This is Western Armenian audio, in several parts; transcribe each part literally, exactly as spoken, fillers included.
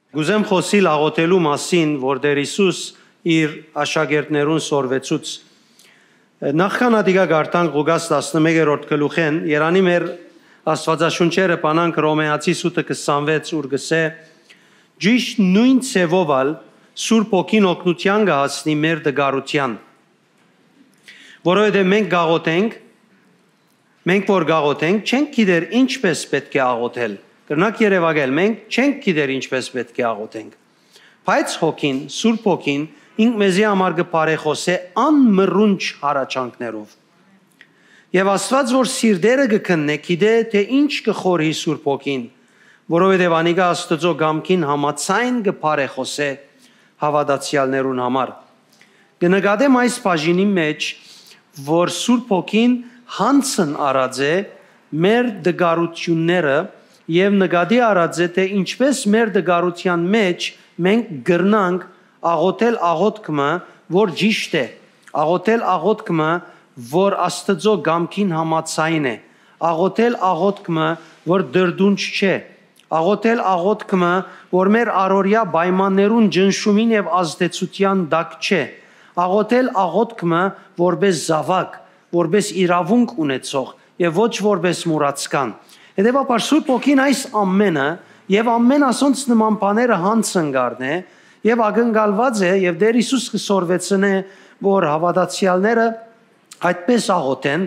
Կ'ուզեմ խօսիլ աղօթելու մասին, որ Տէր Յիսուս իր աշակերտներուն սորվեցուց։ Նախքան ատիկա կարդանք Ղուկաս տասնմեկերորդ գլուխէն, երանի մեր Աստուածաշունչերը բանանք Հռոմէացի սուտը քսանվեց, ուր կ'ըսէ. «Ճիշդ նոյն ձեւով ալ Սուրբ Հոգին օգնութեան կը հասնի մեր տկարութեան, որովհետեւ մենք կ'աղօթենք, մենք որ կ'աղօթենք, չենք գիտեր ինչպէս պէտք է աղօթել»։ Կրնաք երեւակել, մենք չենք գիտեր ինչպէս պէտք է աղօթենք։ Բայց Հոգին, Սուրբ Հոգին, ինք մեզի համար կը բարեխօսէ անմռունչ հառաչանքներով։ Եւ Աստուած որ սիրտերը կը քննէ, գիտէ թէ ինչ կը խորհի Սուրբ Հոգին, որովհետեւ անիկա Աստուծոյ կամքին համաձայն կը բարեխօսէ հաւատացեալներուն համար։ Կը նկատեմ այս բաժինի մէջ, որ Սուրբ Հոգին յանձն առած է մեր տկարութիւնները եւ նկատի առած է, թէ ինչպէս մեր տկարութեան մէջ մենք կրնանք աղօթել աղօթք մը, որ ճիշդ է, աղօթել աղօթք մը, որ Աստուծոյ կամքին համաձայն է, աղօթել աղօթք մը, որ դրդունջ չէ, աղօթել աղօթք մը, որ մեր առօրեայ պայմաններուն ճնշումին եւ ազդեցութեան տակ չէ, աղօթել աղօթք մը, որպէս զաւակ, որպէս իրաւունք ունեցող եւ ոչ որպէս մուրացկան։ Հետեւաբար Սուրբ Հոգին այս ամէնը եւ ամէն ասոնց նման բաները յանձն կ'առնէ եւ ակնկալուած է, եւ Տէր Յիսուս կը սորվեցնէ, որ հաւատացեալները այդպէս աղօթեն,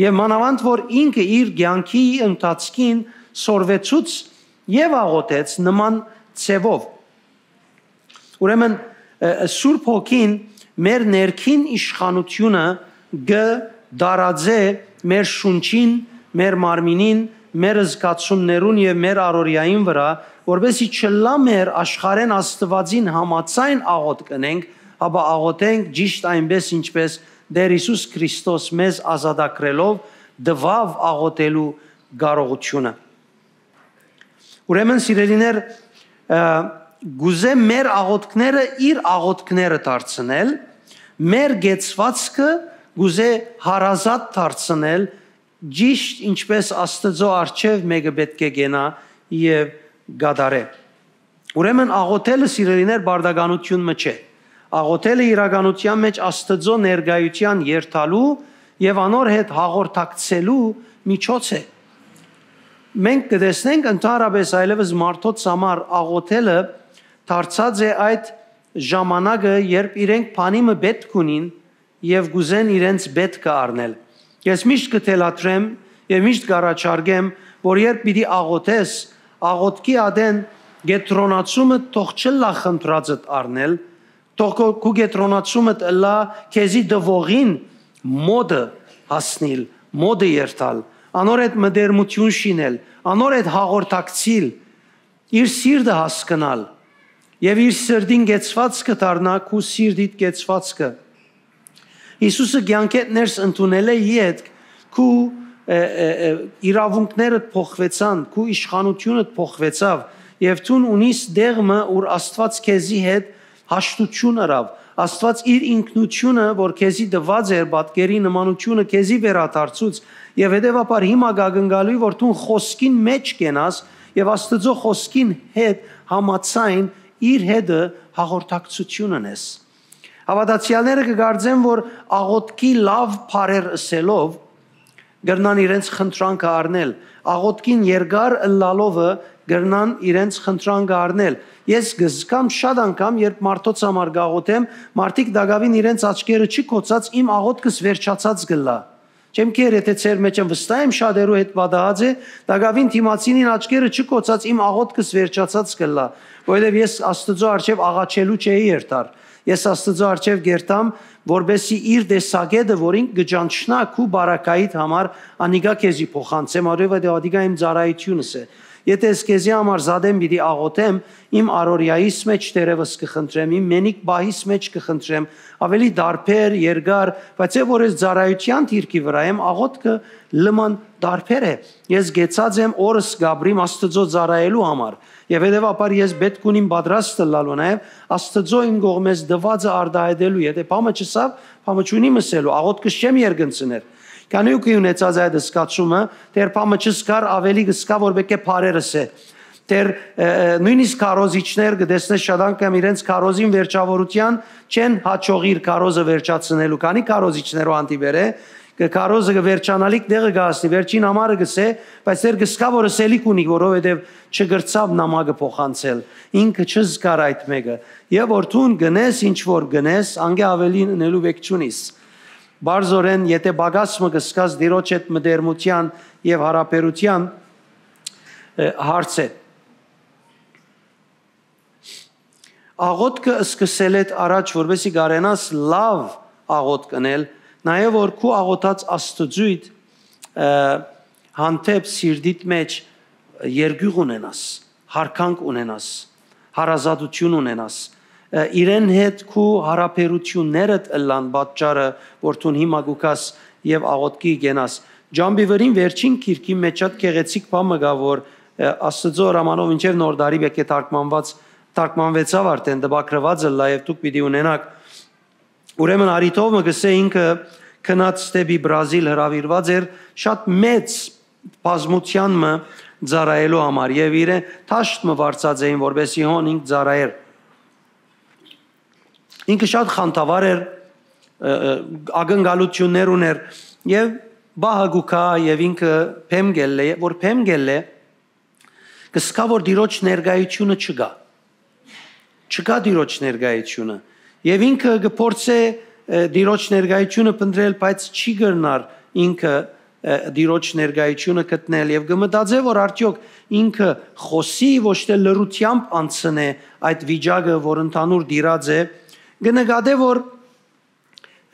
եւ մանաւանդ որ ինքը իր կեանքի ընթացքին սորվեցուց եւ աղօթեց նման ձեւով։ Ուրեմն, ը, Սուրբ Հոգին մեր ներքին իշխանութիւնը կը տարածէ մեր շունչին, մեր մարմինին, մեր զգացումներուն եւ մեր առօրեային վրայ, որպեսզի չըլլայ մեր աշխարհէն Աստուածին համաձայն աղօթք ընենք, հապա աղօթենք ճիշդ այնպէս, ինչպէս Տէր Յիսուս Քրիստոս մեզ ազատագրելով տուաւ աղօթելու կարողութիւնը։ Ուրեմն, սիրելիներ, ը, կ'ուզեմ մեր աղօթքները իր աղօթքները դարձնել, մեր կեցուածքը կ'ուզե հարազատ դարձնել, ճիշդ ինչպէս Աստուծոյ առջեւ մէկը պէտք է կենայ եւ կատարէ։ Ուրեմն աղօթելը, սիրելիներ, պարտականութիւն մը չէ։ Աղօթելը իրականութեան մէջ Աստուծոյ ներկայութեան երթալու եւ անոր հետ հաղորդակցելու միջոց է։ Մենք կը տեսնենք ընդհանրապէս այլեւս մարդոց համար աղօթելը դարձած է այդ ժամանակը, երբ իրենք բանի մը պէտք ունին եւ կ'ուզեն իրենց պէտքը առնել։ Ես միշտ կը թելադրեմ եւ միշտ կ'առաջարկեմ, որ երբ պիտի աղօթես, աղօթքի ատեն կեդրոնացումը թող չըլլայ խնդրածդ առնել, թող քո, քու կեդրոնացումդ ըլլայ քեզի տուողին մօտը հասնիլ, մօտը երթալ, անոր հետ մտերմութիւն շինել, անոր հետ հաղորդակցիլ, իր սիրտը հասկնալ եւ իր սրտին կեցվածքը դառնայ քու սիրտիդ կեցվածքը։ Յիսուսը կեանքէդ ներս ընդունելէ ետք քու, ը, ը, ը, իրաւունքներդ փոխուեցան, քու իշխանութիւնդ փոխուեցաւ եւ դուն ունիս դեղ մը, ուր Աստուած քեզի հետ հաշտութիւն ըրաւ։ Աստուած իր ինքնութիւնը, որ քեզի տուած էր, պատկերի նմանութիւնը քեզի վերադարձուց եւ հետեւաբար հիմա կ'ակնկալուի, որ դուն խօսքին մէջ կենաս եւ Աստուծոյ խօսքին հետ համաձայն իր հետը հաղորդակցութիւն ընես։ Հաւատացեալները կը կարծեն, որ աղօթքի լաւ բառեր ըսելով կրնան իրենց խնդրանքը առնել, աղօթքին երկար ըլլալովը կրնան իրենց խնդրանքը առնել։ Ես կը զգամ շատ անգամ, երբ մարդոց համար կաղօթեմ, մարդիկ տակաւին իրենց աչքերը չի կոչած, իմ աղօթքս վերջացած կ'ըլլայ։ Չեմ քեր, եթե ձեր մեջ եմ, վստահ եմ, շատերու հետ պատահած է, տակաւին դիմացինին աչքերը չի կոչած, իմ աղօթքս վերջացած կ'ըլլայ, որովհետեւ ես Աստուծոյ առջեւ աղաչելու չէի երթար։ Ես Աստուծոյ առջեւ կ'երթամ, որպեսզի իր տեսակետը, որ ինք կը ճանչնայ քու բարակայիդ համար, անիկա քեզի փոխանցեմ, որովհետեւ ատիկա իմ ծառայութիւնս է։ Եթե ես քեզի համար զատեմ պիտի աղօթեմ, իմ առօրեայիս մէջ դերևս կը խնդրեմ, իմ մենիկ պահիս մէջ կը խնդրեմ, ավելի տարբեր, երկար, բայց եւ որ ես ծառայութեան դիրքի վրայ եմ, աղօթքը լման տարբեր է։ Ես կեցած եմ օրս կ'ապրիմ Աստուծոյ ծառայելու համար, եւ հետեւաբար ես պէտք ունիմ պատրաստ ըլլալու նաեւ Աստուծոյ իմ կողմէս տուածը արտահայտելու։ Եթե բամը չըսաւ, բամը չունի ըսելու, աղօթքս չեմ երկնցներ։ Քանի ու կի ունեցած այդ զգացումը, դեռ բամը չզգար, ավելի կ'զգայ, որ պէտք է բառեր ըսէ։ դեռ, ը, ը, նոյնիսկ քարոզիչներ կը տեսնես շատ անգամ իրենց քարոզին վերջաւորութեան չեն յաջողիր քարոզը վերջացնելու, քանի քարոզիչներու հանդիպեր է, կը քարոզը կը վերջանալիք տեղը կը հասնի, վերջին համարը կը սե, բայց դեռ կը սկա որ ըսելիք ունի, որովհետեւ չկրցաւ նամակը փոխանցել, ինքը չզգար այդ մեկը, եւ որ դուն գնես, ինչ որ գնես, անգե ավելի ընելու վեք չունիս։ Բարձորեն, եթե պակաս մը կը սկաս Տիրոջ հետ մտերմութեան եւ յարաբերութեան, ը, հարց է։ Աղոթքը սկսելէդ առաջ, որպեսզի կարենաս լավ աղոթք ընել, նաեւ որ քու աղոթած Աստուծոյդ, ը, հանդէպ սիրտիդ մէջ երկիւղ ունենաս, յարգանք ունենաս, հարազատութիւն ունենաս, ը, իրեն հետ քու յարաբերութիւններդ ըլլան պատճառը, որ դուն հիմա կու գաս եւ աղոթքի կենաս։ Ջամբի վրին վերջին գիրքի մէջ շատ գեղեցիկ բան մը կայ, որ, ը, Աստուծոյ հրամանով մինչեւ Նոր տարի պէտք է թարգմանուած, թարգմանուեցաւ արդեն, տպագրուած ըլլայ եւ դուք պիտի ունենաք։ Ուրեմն Արիթովը կ'ըսէ, ինքը գնաց դէպի Բրազիլ հրաւիրուած էր շատ մեծ բազմութեան մը ծառայելու համար եւ իրեն դաշտ մը վարձած էին, որպեսզի հոն ինք ծառայեր։ Ինքը շատ խանդավառ էր, ը, ը, ակնկալութիւններ ունէր եւ պահը կու գայ եւ ինքը բեմ կ'ելլէ, որ բեմ կ'ելլէ, կը սկայ որ Տիրոջ ներկայութիւնը չկայ։ Չկայ Տիրոջ ներկայութիւնը։ Եւ ինքը կը փորձէ, ը, Տիրոջ ներկայութիւնը փնտռել, բայց չի կրնար ինքը, ը, Տիրոջ ներկայութիւնը գտնել եւ կը մտածէ որ արդեօք ինքը խօսի, ոչ թէ լռութեամբ անցնէ այդ վիճակը, որ ընդհանուր տիրած է, կը նկատէ որ,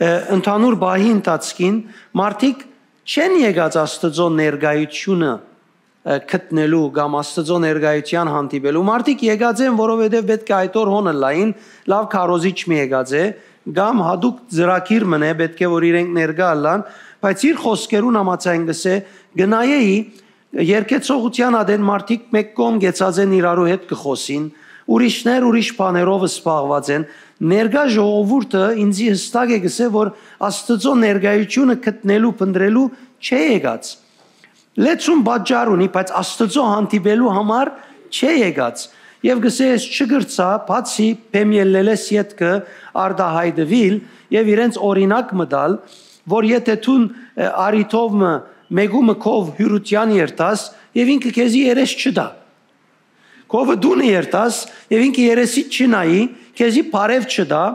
ը, ընդհանուր պահի ընթացքին մարդիկ չեն եկած Աստուծոյ ներկայութիւնը, ը, գտնելու կամ Աստուծոյ ներկայութեան հանդիպելու։ Մարդիկ եկած են, որովհետեւ պէտք է այդ օր հոն ըլլային, լաւ քարոզիչ մը եկած է, կամ յատուկ ծրագիր մըն է, պէտք է որ իրենք ներկայ ըլլան, բայց իր խօսքերուն համաձայն կ'ըսէ, կը նայէի, երկեցողութեան ատեն մարդիկ մէկ կողմ կեցած են իրարու հետ կը խօսին, ուրիշներ ուրիշ բաներով զբաղուած են, ներկայ ժողովուրդը ինծի յստակ է կ'ըսէ, որ Աստուծոյ ներկայութիւնը գտնելու, փնտռելու չէ եկած։ Լեցուն պատճառ ունի, բայց Աստուծոյ հանդիպելու համար չէ եկած։ Եւ կ'ըսէ, ես չկրցայ, բացի բեմ ելլելէս ետքը արտահայտուիլ եւ իրենց օրինակ մը տալ, որ եթե դուն, ը, Արիթով մը մեկու մը քով հիւրութեան երթաս եւ ինքը քեզի երես չտայ։ Քովը դունը երթաս եւ ինքը երեսիդ չի նայի, քեզի բարեւ չտայ,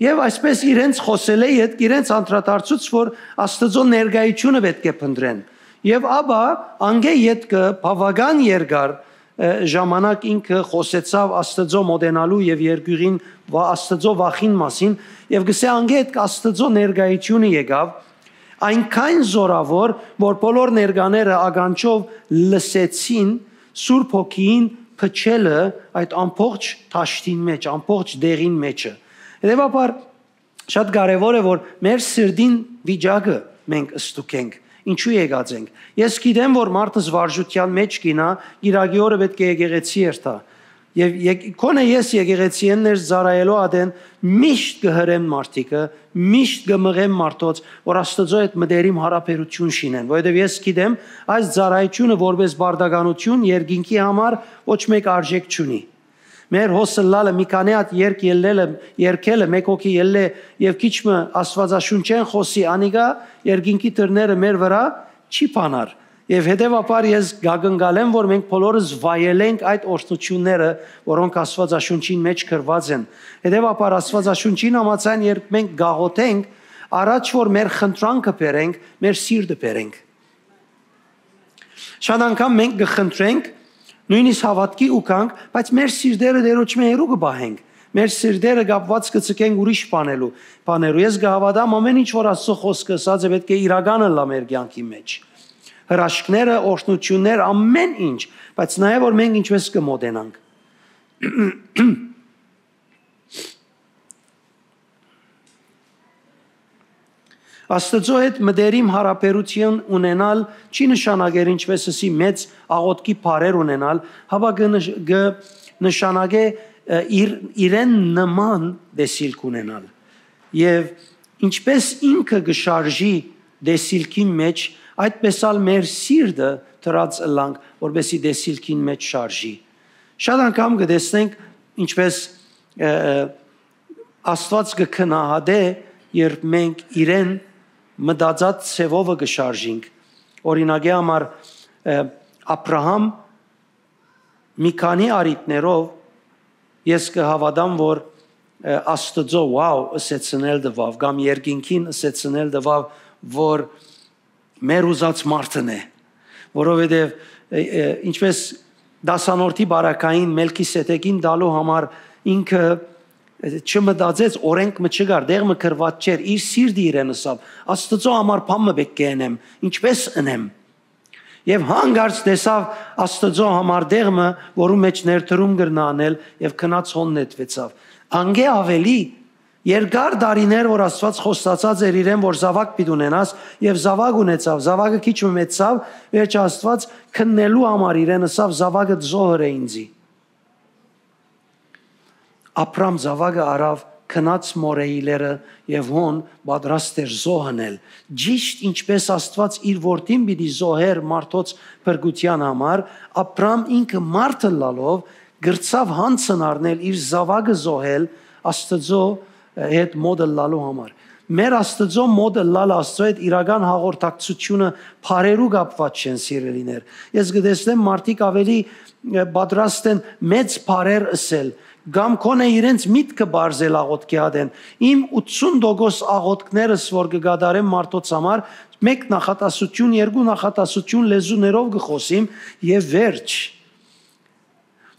եւ այսպես իրենց խօսելէ ետք իրենց անդրադարձուց, որ Աստուծոյ ներկայութիւնը պէտք է փնտռեն։ Եւ ապա անգէ ետքը բաւական երկար, ը, ժամանակ ինքը խօսեցաւ Աստուծոյ մոտենալու եւ երկիւղին վա-, Աստուծոյ վախին մասին եւ կ'ըսէ, անգէ ետք Աստուծոյ ներկայութիւնը եկաւ, այնքան զօրաւոր, որ բոլոր ներկաները ականջով լսեցին Սուրբ Հոգիին փչելը այդ ամբողջ դաշտին մէջ, ամբողջ դեղին մէջը։ Հետեւաբար, շատ կարեւոր է, որ մեր սրտին վիճակը մենք ստուգենք, ինչու եկած ենք։ Ես գիտեմ, որ մարդս վարժութեան մէջ կ'ինայ, կիրակի օրը պէտք է եկեղեցի երթայ։ Եւ եկ-, քոնէ ես եկեղեցիէն ներս ծառայելու ատեն միշտ կը հրեմ մարդիկը, միշտ կը մղեմ մարդոց, որ Աստուծոյ հետ մտերիմ յարաբերութիւն շինեն, որովհետեւ ես գիտեմ, այս ծառայութիւնը որպես պարտականութիւն երկինքի համար ոչ մէկ արժեք չունի։ Մեր հոս ըլլալը, մի քանի հատ երգ ելլելը, երգելը, մէկ հոգի ելլէ եւ քիչ մը Աստուածաշունչէն խօսի, անիկա երկինքի դռները մեր վրայ չի բանար։ Եւ հետեւաբար ես կակնկալեմ, որ մենք բոլորս վայելենք այդ օրհնութիւնները, որոնք Աստուածաշունչին մէջ գրուած են։ Հետեւաբար Աստուածաշունչին համաձայն, երբ մենք գաղութենք, առաջ որ մեր խնդրանքը բերենք, մեր սիրտը բերենք։ Շատ անգամ մենք կը խնդրենք, նոյնիսկ հաւատքի ուկանք, բայց մեր սիրտերը Տիրոջմէ հեռու կը պահենք։ Մեր սիրտերը կապուած կը ցկենք ուրիշ բանելու, բաներու։ Ես կը հաւատամ, ամէն ինչ որ Աստուծոյ խօսքը ըսած է, պէտք է իրական ըլլայ մեր կեանքի մէջ։ Հրաշքները, օրհնութիւններ, ամէն ինչ, բայց նաեւ որ մենք ինչպես կը մոտենանք։ Աստուծոյ հետ մտերիմ յարաբերութիւն ունենալ չի նշանակեր, ինչպես ըսի, մեծ աղոթքի բառեր ունենալ, հապա կը նշ-, կը նշանակէ, ը, իր, իրեն նման տեսիլք ունենալ։ Եւ ինչպես ինքը կը շարժի տեսիլքին մէջ, այդպես ալ մեր սիրտը դրած ըլլանք, որպեսի տեսիլքին մէջ շարժի։ Շատ անգամ կը տեսնենք ինչպես, ը, ը, Աստուած կը գնահատէ, երբ մենք իրեն մտածած ձևովը կը շարժինք։ Օրինակի համար, ը, Աբրահամ մի քանի առիթներով ես կը հաւատամ, որ, ը, Աստուծոյ «Wow» ըսեցնել տուաւ, կամ երկինքին ըսեցնել տուաւ, որ մեր ուզած մարդն է, որովհետեւ, ը, ը, ինչպես դասանորդի բարակային Մելքիսեդեկին տալու համար ինքը, ը, չմտածեց, օրենք մը չկար, տեղ մը գրուած չէր, իր սիրտը իրեն ըսաւ. «Աստուծոյ համար բան մը պէտք է ընեմ, ինչպես ընեմ»։ Եւ հանկարծ տեսաւ Աստուծոյ համար տեղ մը, որու մէջ ներդրում կրնայ անել, եւ գնաց հոն նետուեցաւ։ Անկէ աւելի, երկար տարիներ որ Աստուած խոստացած էր իրեն, որ զաւակ պիտի ունենաս, եւ զաւակ ունեցաւ, զաւակը քիչ մը մեծցաւ, վերջը Աստուած քննելու համար իրեն ըսաւ. «Զաւակը զոհր է ինծի»։ Աբրամ զաւակը առաւ, գնաց մորեի լեռը եւ հոն պատրաստ էր զոհ ընել։ Ճիշդ ինչպես Աստուած իր որդին պիտի զոհեր մարդոց փրկութեան համար, Աբրամ ինքը մարդ ըլլալով կրցաւ յանցն առնել, իր զաւակը զոհել, Աստուծոյ հետ մօտ ըլլալու համար։ Մեր Աստուծոյ մօտ ըլլալը, Աստուծոյ հետ իրական հաղորդակցությունը բառերու կապուած չեն, սիրելիներ։ Ես կը տեսնեմ, մարդիկ աւելի, ը, պատրաստ են մեծ բառեր ըսել, կամ գոնե իրենց միտքը պարզել աղօթքի ատեն։ Իմ ութսուն տոկոս աղօթքներս որ կը կատարեմ մարդոց համար, մէկ նախատասություն, երկու նախատասություն լեզուներով կը խօսիմ եւ վերջ,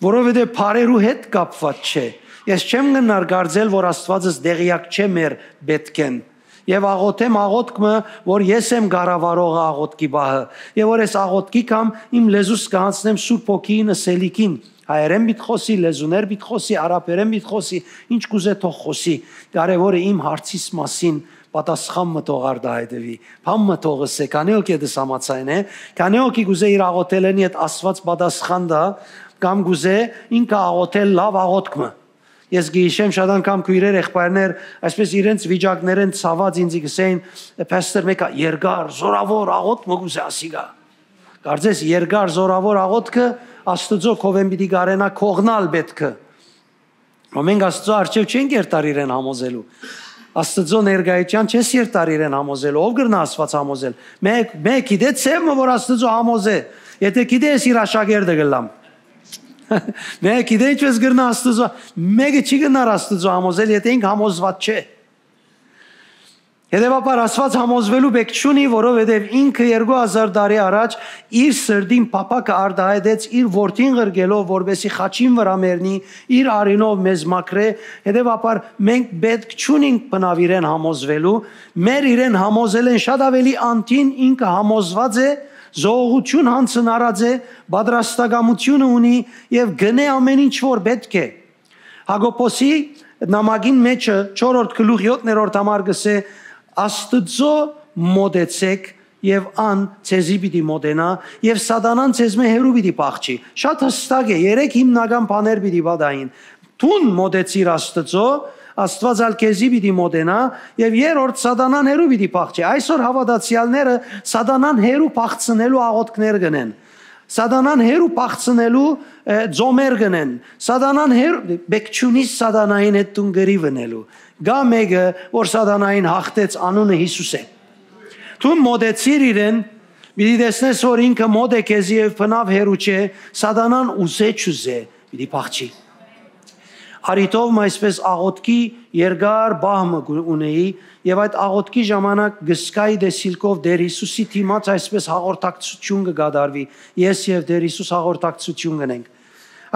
որովհետեւ բառերու հետ կապուած չէ։ Ես չեմ գնար կարծել, որ Աստուածս տեղեակ չէ մեր պէտքէն։ Եւ աղօթեմ աղօթք մը, որ ես եմ կառավարողը աղօթքի պահը, եւ որ ես աղօթքի կամ իմ լեզուս կը յանցնեմ Սուրբ Հոգիին ըսելիքին, հայերէն պիտի խօսի, լեզուներ պիտի խօսի, արաբերէն պիտի խօսի, ինչ կ'ուզէ թող խօսի, կարեւորը իմ հարցիս մասին պատասխան մը թող արտահայտուի, բան մը թող ըսէ, քանի հոգի դες համաձայն է, քանի հոգի կ'ուզէ իր աղօթելէն յետ Աստուած պատասխան տայ, կամ կ'ուզէ ինքը աղօթել լաւ աղօթք մը։ Ես կը յիշեմ շատ անգամ քոյրեր, եղբայրներ, այսպես իրենց վիճակներէն ցաված ինձի կ'ըսէին. «Pastor, մէկը երկար, զօրաւոր աղօթք մը կ'ուզէ ասիկա»։ Կարծես երկար, զօրաւոր աղօթքը Աստուծոյ քովէն պիտի կարենայ կողնալ պէտքը։ Ու մենք Աստուծոյ առջեւ չենք երթար իրեն համոզելու։ Աստուծոյ ներկայութեան չես երթար իրեն համոզելու։ Ո՞վ կրնայ Աստուած համոզել։ Մէկ, մէկ գիտե՞ ձեւ մը որ Աստուծոյ համոզէ։ Եթէ գիտե, ես իր աշակերտը կ'ըլլամ։ Մէկ գիտե՞ ինչպես կրնայ Աստուծոյ, մէկը չի կրնար Աստուծոյ համոզել, եթէ ինք համոզուած չէ։ Հետեւաբար Աստուած համոզուելու պէք չունի, որովհետեւ ինքը երկու հազար տարի առաջ իր սրտին փափաքը արտահայտեց իր որդին ղրկելով, որպեսզի խաչին վրայ մեռնի, իր արիւնով մեզ մաքրէ։ Հետեւաբար մենք պէտք չունինք բնաւ իրեն համոզուելու, մեր իրեն համոզելէն շատ աւելի անդին ինքը համոզուած է, զոհողութիւն յանցն առած է, պատրաստակամութիւնը ունի եւ կ'ընէ ամէն ինչ որ պէտք է։ Յակոբոսի նամակին մէջը, չորրորդ գլուխ, յոթերորդ համար կ'ըսէ. «Աստուծոյ մօտեցէք եւ ան ձեզի պիտի մօտենայ եւ սատանան ձեզմէ հեռու պիտի փախչի»։ Շատ յստակ է, երեք հիմնական բաներ պիտի պատահին. դուն մօտեցիր Աստուծոյ, Աստուած ալ քեզի պիտի մօտենայ, եւ երրորդ, սատանան հեռու պիտի փախչի։ Այսօր հաւատացեալները սատանան հեռու փախցնելու աղօթքներ կ'ընեն։ Սատանան հեռու փախցնելու, ը, ծոմեր կ'ընեն։ Սատանան հեռու, պէք չունի սատանային հետ դուն կռիվ ընելու։ Կայ մէկը, որ սատանային յաղթեց, անունը Յիսուս է։ Դուն մօտեցիր իրեն, պիտի տեսնես, որ ինքը մօտ է քեզի եւ բնաւ հեռու չէ, սատանան ուզէ չուզէ, պիտի փախչի։ Արիթով մը այսպես աղօթքի երկար պահ մը կու-, ունեի, եւ այդ աղօթքի ժամանակ կ'զգայի տեսիլքով Տեր Յիսուսի դիմաց այսպես հաղորդակցութիւն կը կատարուի, ես եւ Տեր Յիսուս հաղորդակցութիւն կ'ընենք։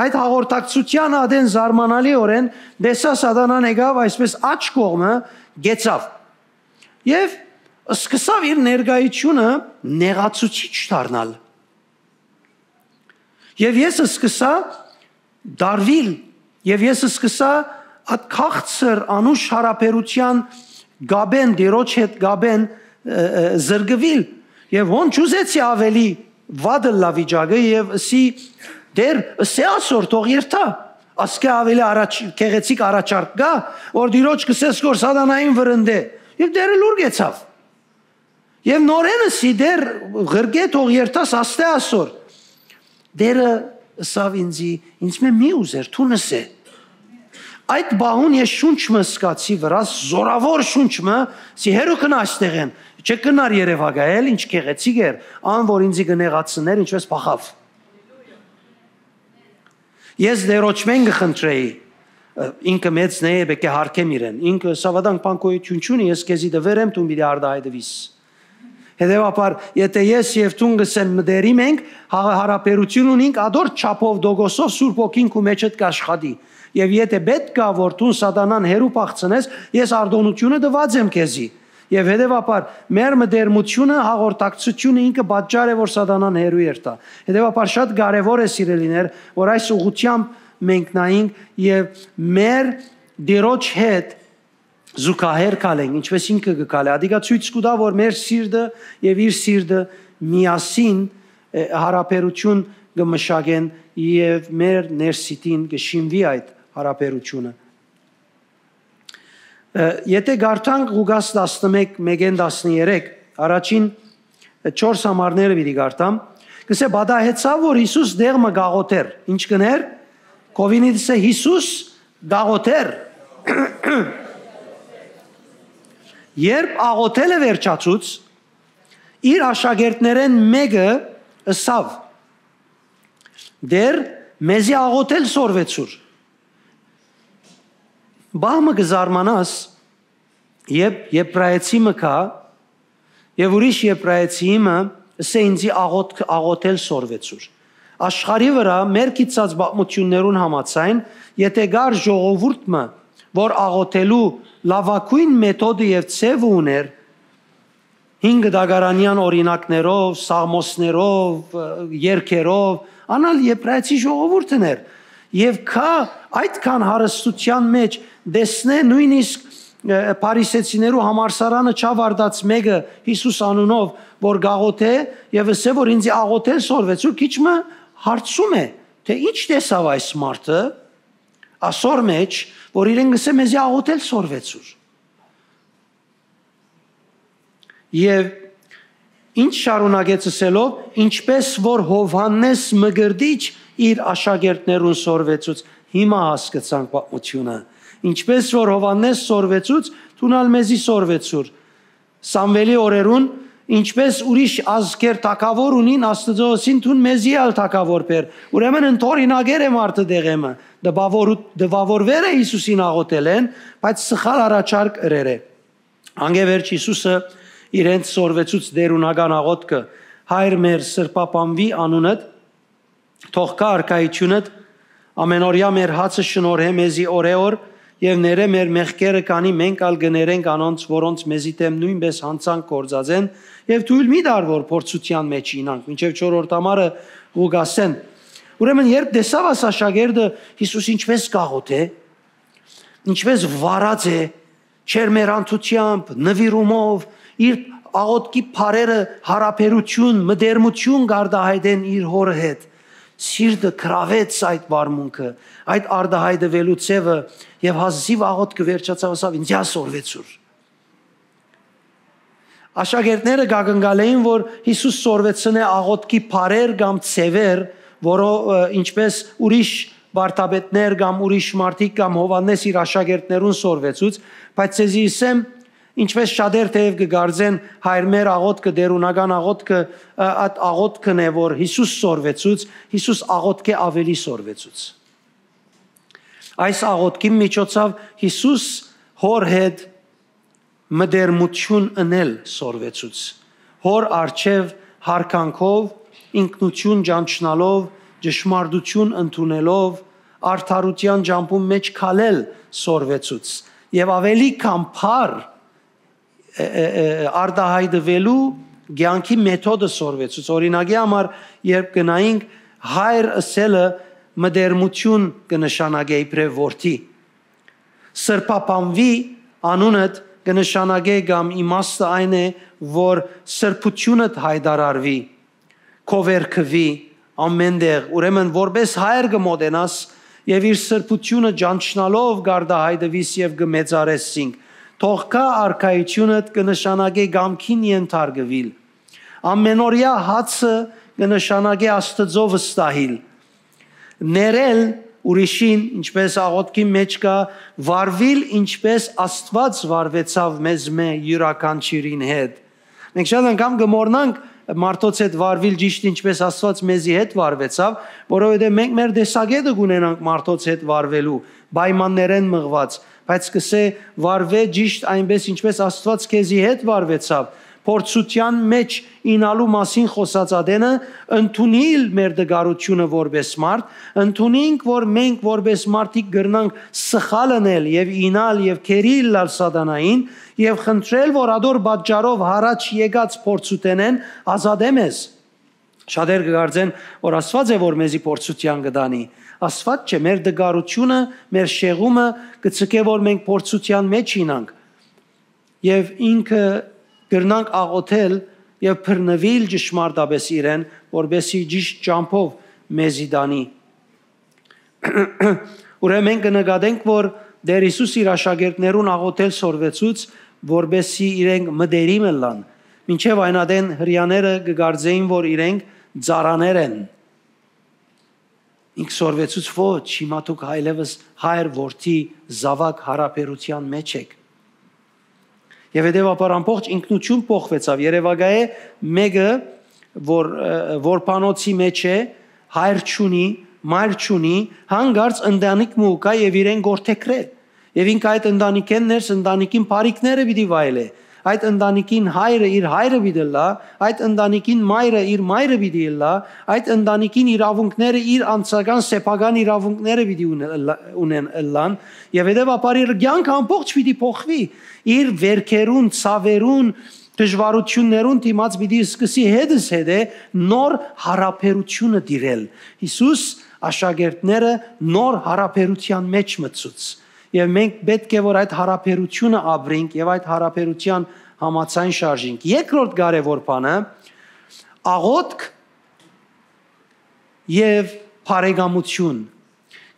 Այդ հաղորդակցութեան ատեն զարմանալիօրէն տեսայ սատանան եկաւ այսպես աջ կողմը, կեցաւ։ Եւ սկսաւ իր ներկայությունը նեղացուցիչ դառնալ։ Եւ ես սկսա դարվել, եւ ես սկսա այդ քաղցր, անուշ յարաբերութեան կապէն, Տիրոջ հետ կապէն, ը, ը, զրկուիլ։ Եւ հոն չուզեցի աւելի վատ ըլլայ վիճակը եւ ըսի. «Տեր, ըսէ ասոր, թող երթայ»։ Ասկէ աւելի առաջ, գեղեցիկ առաջարկ կայ, որ Տիրոջ կ'ըսես, որ սատանային վրընդէ։ Եւ Տերը լուր կեցաւ։ Եւ նորէն ըսի. «Տեր, ղրկէ, թող երթաս, աստէ ասոր»։ Տերը ըսաւ ինձի. «Ինձ մէ մի ուզեր, դուն ըսէ»։ Այդ պահուն ես շունչ մը սկացի վրաս, զորաւոր շունչ մը, սի հեռու կնա այստեղէն, չէ կնար երեւակայել, ինչ գեղեցիկ էր, ան որ ինձի կը նեղացնէր, ինչպես փախաւ։ Ես Տէրոջմէն կը խնդրէի, ը, ինքը մեծն է, պէտք է յարգեմ իրեն։ Ինքը սավադանք բան գոյություն չունի, ես քեզի տուեր եմ, դուն պիտի արտահայտուիս։ Հետեւաբար, եթե ես եւ դուն կ'ըսեմ մտերիմ ենք, հա-, յարաբերություն ունինք, ադոր չափով, տոկոսով Սուրբ Հոգին քու մեջդ կ'աշխատի։ Եւ եթե պէտք կայ, որ դուն սատանան հեռու փախցնես, ես արտօնութիւնը տուած եմ քեզի։ Եւ հետեւաբար, մեր մտերմութիւնը, հաղորդակցութիւնը ինքը պատճառ է, որ սատանան հեռու երթայ։ Հետեւաբար, շատ կարեւոր է, սիրելիներ, որ այս ուղղութեամբ մենք նայենք եւ մեր Տիրոջ հետ զուգահեռ քալենք, ինչպես ինքը կը քալէ։ Ադիկա ցոյց կու տայ, որ մեր սիրտը եւ իր սիրտը միասին, ը, յարաբերութիւն կը մշակեն եւ մեր ներսիտին կը շինուի այդ յարաբերութիւնը։ Ը, եթե կարդանք Ղուկաս տասնմէկ, մէկէն տասներեք, առաջին չորս համարները պիտի կարդամ, կսէ. «Պատահեցաւ, որ Յիսուս տեղ մը կ'աղօթէր»։ Ինչ կ'ընէր։ Քովինիդսը Յիսուս կ'աղօթէր։ Երբ աղօթելը վերջացուց, իր աշակերտներէն մէկը ըսաւ. «Տէր, մեզի աղօթել սորվեցուր»։ Պահ մը կը զարմանաս, երբ եբրայեցի մը գայ եւ ուրիշ եբրայեցի մը ըսէ ինձի աղոթ-, աղոթել սորվեցուր։ Աշխարհի վրայ մեր գիտցած պատմութիւններուն համաձայն, եթե կար ժողովուրդ մը, որ աղոթելու լաւագոյն մեթոդը եւ ձեւը ունէր, հին գտակարանեան օրինակներով, սաղմոսներով, ը, երգերով, անալ եբրայեցի ժողովուրդն էր։ Եւ կայ այդքան հարստութեան մէջ, տեսնէ նոյնիսկ, ը, փարիսեցիներու համալսարանը չաւարտած մէկը Յիսուս անունով, որ կ'աղոթէ եւ ըսէ, որ ինձի աղոթել սորվեցուր, քիչ մը հարցում է, թէ ի՞նչ տեսաւ այս մարդը ասոր մէջ, որ իրեն կսէ մեզի աղոթել սորվեցուր։ Եւ ինչ շարունակեց ըսելով, ինչպես որ Յովհաննէս Մկրտիչ իր աշակերտներուն սորվեցուց, հիմա հասկցանք պատմութիւնը։ Ինչպես որ Յովհաննէս սորվեցուց, դուն ալ մեզի սորվեցուր։ Սամուէլի օրերուն, ինչպես ուրիշ ազգեր թագաւոր ունին, Աստուծոյ ըսին, դուն մեզի ալ թագաւոր բեր։ Ուրեմն ընդօրինակեր է մարդը դեղեմը, տպաւորու-, տպաւորուեր է Յիսուսին աղոթելէն, բայց սխալ առաջարկ ըրեր է։ Անկէ վերջ Յիսուսը իրենց սորվեցուց տէրունական աղոթքը. «Հայր մեր, սրբապանուի անունդ, թող գայ արքայութիւնդ, ամէնօրեայ մեր հացը շնորհէ մեզի օրէ օր եւ ներէ մեր մեղքերը, քանի մենք ալ կը ներենք անոնց, որոնց մեզի դէմ նոյնպէս յանցանք գործած են, եւ թոյլ մի տար, որ փորձութեան մէջ իյնանք», մինչեւ չորրորդ համարը Ղուկասէն։ Ուրեմն, երբ տեսաւ աս աշակերտը Յիսուս ինչպես կ'աղոթէ, ինչպես վարած է, ջերմեռանդութեամբ, նուիրումով, իր աղոթքի բառերը յարաբերութիւն, մտերմութիւն կ'արտահայտեն իր հօրը հետ, սիրտը գրաւեց այդ վարմունքը, այդ արտահայտուելու ձեւը, եւ հազիւ աղոթքը վերջացաւ, ասաւ. «Ինձ սորվեցուր»։ Աշակերտները կակնկալէին, որ Յիսուս սորվեցնէ աղոթքի բառեր կամ ձեւեր, որո-, ը, ինչպես ուրիշ վարդապետներ կամ ուրիշ մարդիկ կամ Յովհաննէս իր աշակերտներուն սորվեցուց, բայց ձեզի ըսեմ, ինչպես շատեր թեեւ կը կարծեն, Հայր մեր աղոթքը, տէրունական աղոթքը, ը, այդ աղոթքն է, որ Յիսուս սորվեցուց, Յիսուս աղոթքը աւելի սորվեցուց։ Այս աղոթքին միջոցաւ Յիսուս հօր հետ մտերմութիւն ընել սորվեցուց։ Հօր առջեւ յարգանքով, ինքնութիւն ճանչնալով, ճշմարտութիւն ընդունելով, արդարութեան ճամբուն մէջ քալել սորվեցուց եւ աւելի քան բառ, ը, ը, ը, արտահայտուելու կեանքի մեթոդը սորվեցուց։ Օրինակի համար, երբ գնայինք, հայր ըսելը մտերմութիւն կը նշանակէ իբրեւ որդի։ Սրբապանուի անունդ կը նշանակէ կամ իմաստը այն է, որ սրբութիւնդ յայտարարուի, քովերգուի ամէն տեղ, ուրեմն որպէս հայր կը մոտենաս եւ իր սրբութիւնը ճանչնալով կ'արտահայտուիս եւ կը մեծարես զինք։ Թող գայ արքայութիւնդ կը նշանակէ կամքին ենթարկուիլ։ Ամէնօրեայ հացը կը նշանակէ Աստուծոյ վստահիլ։ ներել ուրիշին, ինչպէս աղօթքի մէջ կայ, վարուիլ ինչպէս Աստուած վարուեցաւ մեզմէ յուրաքանչիւրին հետ։ Մենք շատ անգամ կը մոռնանք մարդոց հետ վարուիլ ճիշդ ինչպէս Աստուած մեզի հետ վարուեցաւ, որովհետեւ մենք մեր տեսակէտը կունենանք մարդոց հետ վարուելու պայմաններէն մղուած, բայց կ'ըսէ. «Վարուէ ճիշդ այնպէս ինչպէս Աստուած քեզի հետ վարուեցաւ»։ Փորձութեան մէջ իյնալու մասին խօսած ատենը, ընդունիլ մեր տկարութիւնը որպէս մարդ, ընդունինք, որ մենք որպէս մարդիկ կրնանք սխալ ընել եւ իյնալ եւ գերի ըլլալ սատանային եւ խնդրել, որ ատոր պատճառով յառաջ եկած փորձութենէն ազատէ մեզ։ Շատեր կը կարծեն, որ Աստուած է, որ մեզի փորձութեան կը տանի։ Աստուած չէ, մեր տկարութիւնը, մեր շեղումը կը ձգէ, որ մենք փորձութեան մէջ իյնանք։ Եւ ինքը կրնանք աղօթել եւ բռնուիլ ճշմարտապէս իրեն, որպէսզի ճիշդ ճամբով մեզի տանի։ Ուրեմն մենք կը նկատենք, որ Տէր Յիսուս իր աշակերտներուն աղօթել սորվեցուց, որպէսզի իրենք մտերիմ ըլլան, մինչեւ այն ատեն Հրեաները կը կարծէին, որ իրենք ծառաներ են։ Ինք սորվեցուց. «Ոչ, հիմա դուք այլեւս Հայր, Որդի, Զաւակ յարաբերութեան մէջ էք»։ Եւ հետեւաբար ամբողջ ինքնություն փոխուեցաւ։ Երեւակայ է մէկը, որ, ը, որբանոցի մէջ է, հայր չունի, մայր չունի, հանկարծ ընտանիք մը կայ եւ իրեն գործեգրէ։ Եւ ինք այդ ընտանիքէն ներս ընտանիքին բարիքները պիտի վայելէ։ Այդ ընտանիքին հայրը իր հայրը պիտի ըլլայ, այդ ընտանիքին մայրը իր մայրը պիտի ըլլայ, այդ ընտանիքին իրաւունքները իր անձական սեփական իրաւունքները պիտի ունե-, ըլլա-, ունեն ըլլան, եւ հետեւաբար իր կյանքը ամբողջ պիտի փոխուի, իր վէրքերուն, ցաւերուն, դժուարութիւններուն դիմաց պիտի սկսի հետզհետէ նոր յարաբերութիւնը տիրել։ Յիսուս աշակերտները նոր յարաբերութեան մէջ մտցուց։ Եւ մենք պէտք է որ այդ յարաբերութիւնը ապրենք եւ այդ յարաբերութեան համաձայն շարժենք։ Երկրորդ կարեւոր բանը՝ աղօթք եւ բարեկամութիւն։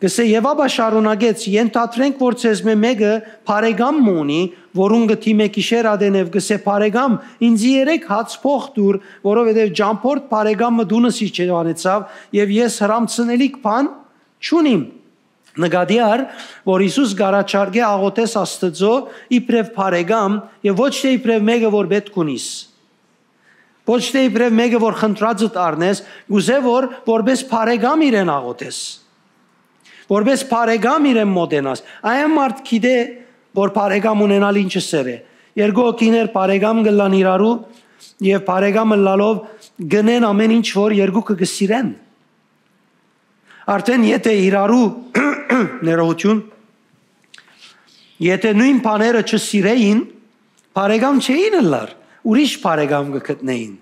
Կ'ըսէ. «Եւ ապա շարունակեց. Ենթադրենք, որ ձեզմէ մէկը բարեկամ մը ունի, որուն կը դիմէ գիշեր ատեն եւ կ'ըսէ. "Բարեկամ, ինծի երեք հաց փոխ տուր, որովհետեւ ճամբորդ բարեկամ մը տունս իջեանեցաւ եւ ես հրամցնելիք բան չունիմ"»։ Նկատի առ, որ Յիսուս կ'առաջարկէ աղօթես Աստուծոյ իբրեւ բարեկամ եւ ոչ թէ իբրեւ մէկը որ պէտք ունիս։ Ոչ թէ իբրեւ մէկը որ խնդրածդ առնես, կ'ուզէ որ որպէս բարեկամ իրեն աղօթես, որպէս բարեկամ իրեն մոտենաս։ Այն մարդ գիտէ որ բարեկամ ունենալ ինչը սեր է։ Երկու հոգիներ բարեկամ կ'ըլլան իրարու եւ բարեկամ ըլլալով կ'ընեն ամէն ինչ որ երկուքը կը սիրեն։ Արդեն եթե իրարու ներողություն, եթե նոյն բաները չսիրէին, բարեկամ չէին ըլլար, ուրիշ բարեկամ կը գտնէին։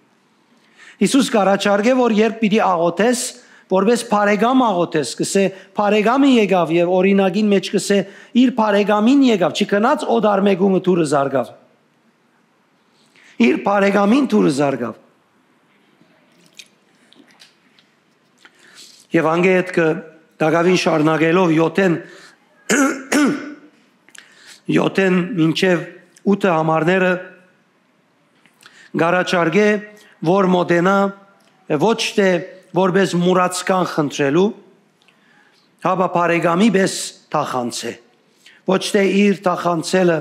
Յիսուս կ'առաջարկէ որ երբ պիտի աղօթես, որպէս բարեկամ աղօթես, կ'ըսէ. "Բարեկամը եկաւ", եւ օրինակին մէջ կ'ըսէ. "Իր բարեկամին եկաւ", չգնաց օտար մէկումը դուռը զարկաւ։ Իր բարեկամին դուռը զարկաւ։ Եվ անգէ հետ կը տակաւին շարունակելով յոթեն, յոթեն մինչեւ ութը համարները կ'առաջարկէ, որ մոտենայ ոչ թէ որպէս մուրացկան խնդրելու, հապա բարեկամի պէս թախանձէ։ Ոչ թէ իր թախանձելը,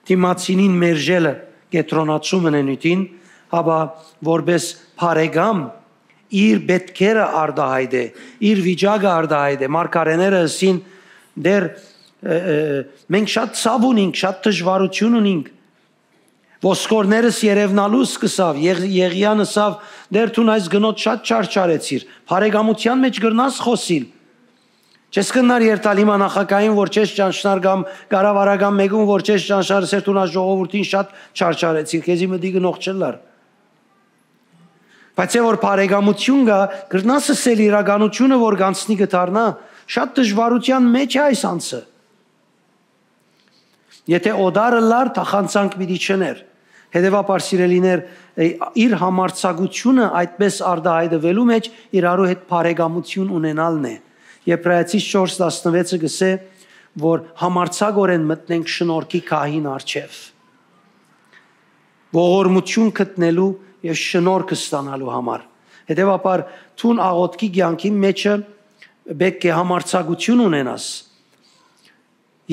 դիմացինին մերժելը կեդրոնացումը նենիւթին, հապա որպէս բարեկամ իր պէտքերը արտահայտէ, իր վիճակը արտահայտէ։ Մարգարեները ըսին. "Դեռ, ը, ը, մենք շատ ցաւ ունինք, շատ դժուարութիւն ունինք"։ Ոսկորներս երևնալու սկսաւ, Եղ-, Եղիան ըսաւ. "Դեռ դուն այս գնոտ շատ չարչարեցիր, բարեկամութեան մէջ կրնաս խօսիլ։ Չես կրնար երթալ հիմա նախագահին, որ չես ճանչնար, կամ կառավարական մէկուն, որ չես ճանչնար, սեր դուն այս ժողովուրդին շատ չարչարեցիր, քեզի մտի գնող չըլլար"։ Բայց է որ բարեկամութիւն կայ, կրնաս ըսել իրականութիւնը, որ կ'անցնի կը դառնայ, շատ դժուարութեան մէջ է այս անձը։ Եթե օտար ըլլար, թախանձանք պիտի չըներ։ Հետեւաբար, սիրելիներ, ը, իր համարձակութիւնը այդպէս արտահայտվելու մէջ իրարու հետ բարեկամութիւն ունենալն է։ Եբրայեցիս չորս տասնվեցը կ'ըսէ, որ համարձակօրէն մտնենք շնորհքի գահին առջեւ, ողորմութիւն գտնելու եւ շնորհք ստանալու համար։ Հետեւաբար, դուն աղօթքի կեանքին մէջը պէտք է համարձակութիւն ունենաս։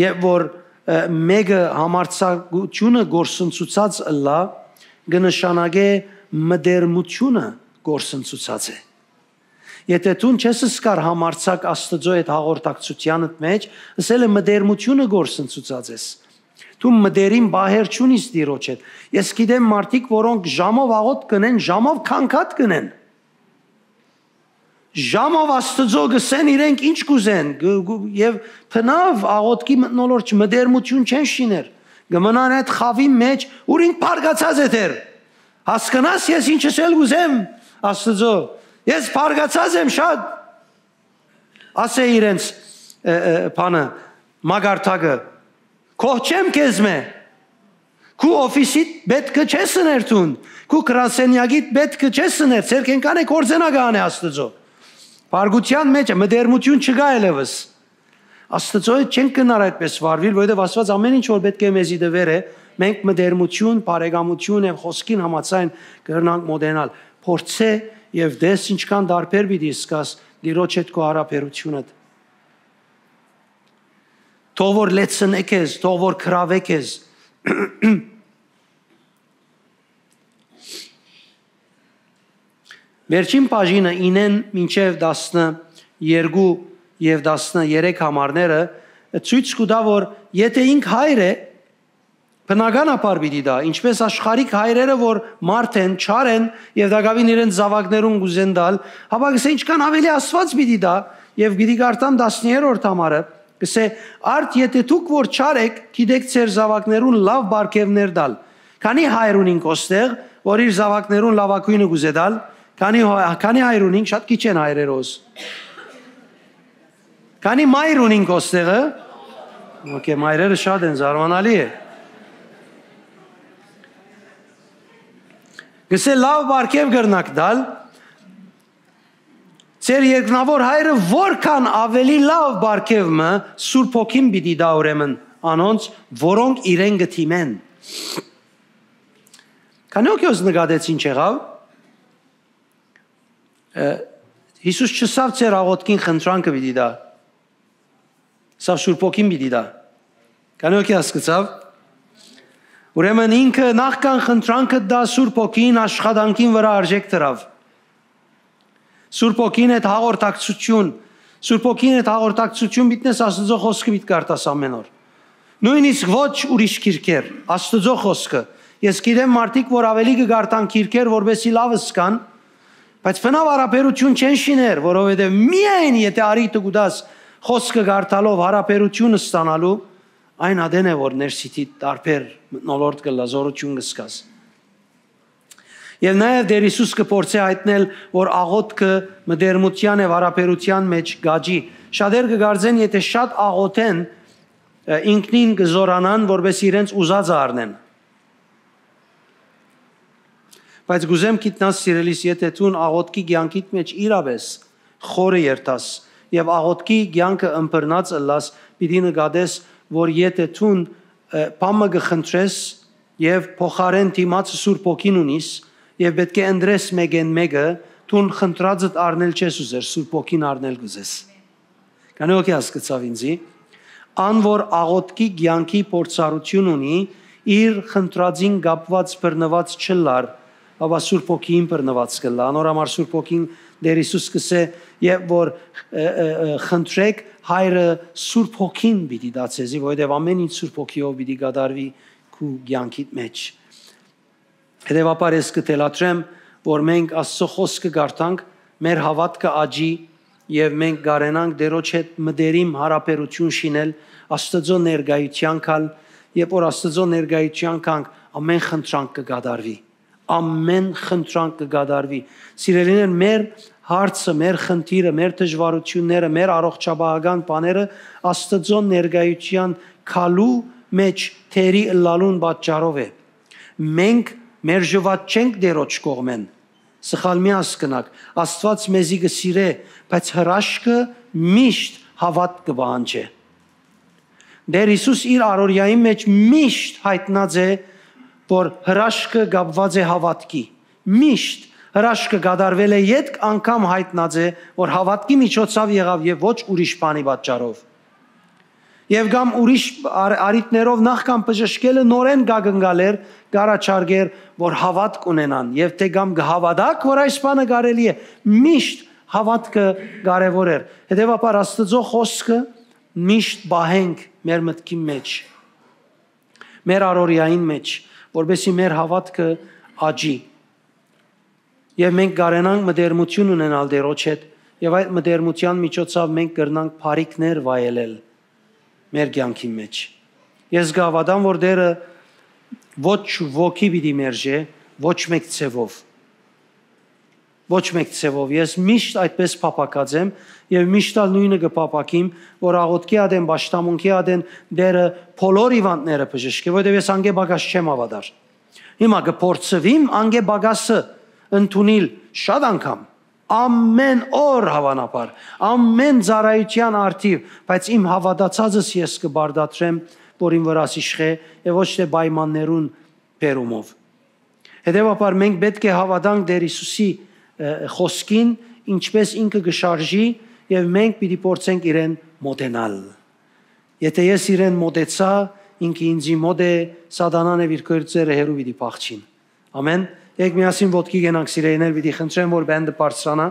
Երբ որ, ը, մէկը համարձակութիւնը գործընծուցած ըլլայ, կը նշանակէ մտերմութիւնը գործընծուցած է։ Եթէ դուն չես զգար համարձակ Աստուծոյ հետ հաղորդակցութեանդ մէջ, ըսել է մտերմութիւնը գործընծուցած ես։ Դու մտերիմ պահեր չունիս Տիրոջ հետ։ Ես գիտեմ մարդիկ, որոնք ժամով աղօթք կ'ընեն, ժամով քանքատ կ'ընեն։ Ժամով Աստուծոյ կ'ըսեն իրենք ինչ կ'ուզեն, գ-, գ-, եւ բնաւ աղօթքի մթնոլորտ մտերմութիւն չեն շիներ։ Կը մնան այդ խաւին մէջ, ուր ինք բարկացած է դեռ։ Հասկնաս ես ինչ ըսել կ'ուզեմ Աստուծոյ։ Ես բարկացած եմ շատ, ասէ իրենց, ը, ը, բանը, մակարդակը։ Կոհ չեմ քեզմէ։ Քու օֆիսիդ պէտքը չես ըներ դուն, քու գրասենյակիդ պէտքը չես ըներ, ձեր կենդանը գործենական է Աստուծոյ։ Բարկութեան մէջ է, մտերմութիւն չկայ այլեւս։ Աստուծոյ հետ չենք կրնար այդպես վարուիլ, որովհետեւ Աստուած ամէն ինչ որ պէտք է մեզի տուեր է, մենք մտերմութիւն, բարեկամութիւն եւ խօսքին համաձայն կրնանք մօտենալ։ Փորձէ եւ տես ինչքան տարբեր պիտի զգաս Տիրոջ հետ քու յարաբերութիւնդ։ Թող որ լեցնէ քեզ, թող որ գրաւէ քեզ։ Վերջին բաժինը ինեն մինչեւ տասներկու եւ տասներեք համարները ցոյց կու տայ, որ եթէ ինք հայր է, բնականաբար պիտի տայ, ինչպէս աշխարհիկ հայրերը, որ մարդ են, չար են եւ տակաւին իրենց զաւակներուն կ'ուզեն տալ, հապա կ'ըսէ, ինչքան աւելի Աստուած պիտի տայ, եւ պիտի կարդամ տասներորդ համարը, կ'ըսէ, արդ եթէ դուք որ չար էք, գիտեք ձեր զաւակներուն լաւ պարգեւներ տալ, քանի՞ հայր ունինք ոստեղ, որ իր զաւակներուն լաւագոյնը կ'ուզէ տալ, քանի՞ հա-, քանի՞ հայր ունինք, շատ քիչ են հայրերոս։ Քանի՞ մայր ունինք ոստեղը։ Okay, մայրերը շատ են, զարմանալի է։ Կ'ըսէ, լաւ պարգեւ կրնաք տալ, ձեր երկնաւոր հայրը որքան աւելի լաւ պարգեւ մը Սուրբ Հոգին պիտի տայ ուրեմն անոնց, որոնք իրեն կը դիմեն։ Քանի՞ հոգի նկատեց ինչ եղաւ։ Ը, Յիսուս չըսաւ, ձեր աղօթքին խնդրանքը պիտի տայ, սա Սուրբ Հոգին պիտի տայ։ Քանի՞ հոգի հասկցաւ։ Ուրեմն ինքը նախքան խնդրանքը տայ, Սուրբ Հոգին աշխատանքին վրայ արժեք դրաւ։ Սուրբ Հոգին հետ հաղորդակցութիւն, Սուրբ Հոգին հետ հաղորդակցութիւն պիտի ունես, Աստուծոյ խօսքը պիտի կարդաս ամէն օր։ Նոյնիսկ ոչ ուրիշ գիրքեր, Աստուծոյ խօսքը։ Ես գիտեմ մարդիկ, որ աւելի կը կարդան գիրքեր, որպեսզի լաւ զգան, բայց բնաւ յարաբերութիւն չեն շիներ, որովհետեւ միայն եթէ առիթը կու տաս խօսքը կարդալով յարաբերութիւն ստանալու, այն ատեն է, որ ներսիդիդ տարբեր մթնոլորտ կ'ըլլայ, զօրութիւն կ'զգաս։ Եւ նաեւ Տէր Յիսուս կը փորձէ յայտնել, որ աղօթքը մտերմութեան եւ յարաբերութեան մէջ կ'աճի։ Շատեր կը կարծեն, եթէ շատ աղօթեն, ը, ինքնին կը զօրանան, որպէս իրենց ուզածը առնեն։ Բայց կ'ուզեմ գիտնաս, սիրելիս, եթէ դուն աղօթքի կեանքիդ մէջ իրապէս խորը երթաս եւ աղօթքի կեանքը ըմբռնած ըլլաս, պիտի նկատես, որ եթէ դուն, ը, բան մը կը խնդրես եւ փոխարէն դիմացը Սուրբ Հոգին ունիս եւ պէտք է ընտրես մէկէն մէկը, դուն խնդրածդ առնել չես ուզեր, Սուրբ Հոգին առնել կ'ուզես։ Քանի՞ հոգի հասկցաւ ինձի։ Ան որ աղօթքի կեանքի փորձառութիւն ունի, իր խնդրածին կապուած բռնուած չ'ըլլար, հապա Սուրբ Հոգիին բռնուած կ'ըլլայ։ Անոր համար Սուրբ Հոգին, Տէր Յիսուս կ'ըսէ, երբ որ, ը, ը, ը, խնդրեք, Հայրը Սուրբ Հոգին պիտի տայ ձեզի, որովհետեւ ամէն ինչ Սուրբ Հոգիով պիտի կատարուի քու կեանքիդ մէջ։ Հետեւաբար ես կը թելադրեմ, որ մենք Աստծոյ խօսքը կարդանք, մեր հաւատքը աճի եւ մենք կարենանք Տէրոջ հետ մտերիմ յարաբերութիւն շինել, Աստուծոյ ներկայութեան գալ, երբ որ Աստուծոյ ներկայութեան գանք, ամէն խնդրանք կը կատարուի։ Ամէն խնդրանք կը կատարուի։ Սիրելիներ, մեր հարցը, մեր խնդիրը, մեր դժվարութիւնները, մեր առողջապահական բաները Աստուծոյ ներկայութեան գալու մէջ թերի ըլլալուն պատճառով է։ Մենք մերժուած չենք Տէրոջ կողմէն։ Սխալ մի հասկնաք, Աստուած մեզի կը սիրէ, բայց հրաշքը միշտ հաւատք կը պահանջէ։ Տէր Յիսուս իր առօրեային մէջ միշտ յայտնած է, որ հրաշքը կապուած է հաւատքի։ Միշտ Հրաշքը կատարուելէ ետք անգամ յայտնած է, որ հաւատքի միջոցաւ եղաւ եւ ոչ ուրիշ բանի պատճառով։ Եւ կամ ուրիշ առ-, առիթներով նախքան բժշկելը նորէն կ'ակնկալէր, կ'առաջարկէր, որ հաւատք ունենան, եւ թէ կամ կը հաւատաք, որ այս բանը կարելի է, միշտ հաւատքը կարեւոր էր։ Հետեւաբար Աստուծոյ խօսքը միշտ պահենք մեր մտքին մէջ, մեր առօրեային մէջ, որպեսզի մեր հաւատքը աճի։ Եւ մենք կարենանք մտերմութիւն ունենալ Տէրոջ հետ, եւ այդ մտերմութեան միջոցաւ մենք կրնանք բարիքներ վայելել մեր կեանքին մէջ։ Ես կհաւատամ, որ Տէրը ոչ ոքի պիտի մերժէ, ոչ մէկ ձեւով։ Ոչ մէկ ձեւով։ Ես միշտ այդպես փափաքած եմ եւ միշտ ալ նոյնը կը փափաքիմ, որ աղօթքի ատեն, պաշտամունքի ատեն Տէրը բոլոր հիւանդները բժշկէ, որովհետեւ ես անկէ պակաս չեմ հաւատար։ Հիմա կը փորձուիմ անկէ պակասը ընդունիլ շատ անգամ, ամեն օր հաւանաբար, ամեն ծառայութեան առթիւ, բայց իմ հաւատացածս ես կը պարտադրեմ, որ իմ վրաս իշխէ եւ ոչ թէ պայմաններուն բերումով։ Հետեւաբար մենք պէտք է հաւատանք Տէր Յիսուսի, ը, խօսքին, ինչպէս ինքը կը շարժի, եւ մենք պիտի փորձենք իրեն մոտենալ։ Եթէ ես իրեն մոտեցայ, ինքը ինձի մոտ է, սատանան եւ իր գործերը հեռու պիտի փախչին։ Ամեն։ Եկեք միասին ոտքի կենանք, սիրելիներ, պիտի խնդրեմ, որ բենդը բարձրանայ։